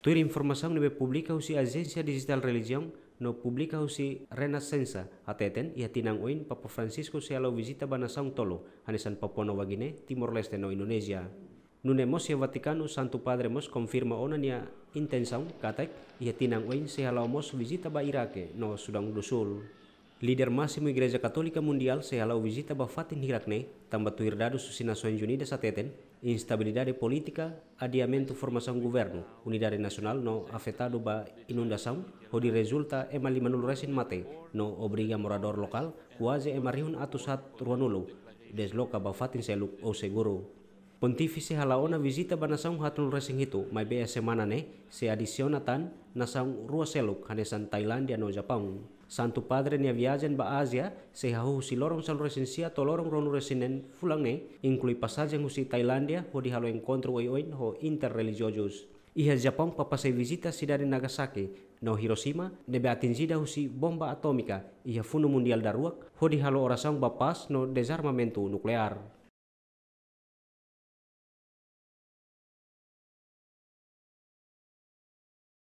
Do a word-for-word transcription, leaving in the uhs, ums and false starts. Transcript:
Tuir informasaun ne'ebé publika husi Ajénsia Dijitál Relijiaun no publika husi Renascença, hateten iha tinan oin Papa Francisco sei hala'o vizita ba nasaun tolu, hanesan Papua Nova Guiné, Timor-Leste no Indonézia. Nune'e mós iha Vatikanu, Santu Padre mós konfirma ona nia intensaun katak iha tinan oin sei hala'o mós vizita ba Iraque no Sudão do Sul. Líder másimu Igreja Katólika Mundiál sei hala'o vizita ba fatin hirak ne'e, tanba tuir dadus husi Nasoins Unidas hateten, instabilidade polítika, adiamentu formasaun governu, unidade nasionál no afetadu ba inundasaun, hodi rezulta ema limanulu resin mate, no obriga moradór lokál kuaze ema rihun atus haat ruanulu desloka ba fatin seluk ou seguru. Pontífise hala'o ona vizita ba nasaun haatnulu resin hitu, maibé iha semana ne'e sei adisiona tan nasaun rua seluk, hanesan Tailándia no Japaun. Santu Padre nia viajen ba Ázia sei hahú husi loron sanulu resin sia to'o loron ruanulu resin neen fulan ne'e, inklui pasajen husi Tailándia hodi halo enkontru oioin ho interrelijiozus. Iha Japaun, Papa sei vizita sidade Nagasaki no Hiroshima ne'ebé atinjida husi bomba atómika iha Funu Mundiál Daruak, hodi halo orasaun ba pás no dezarmamentu nukleár.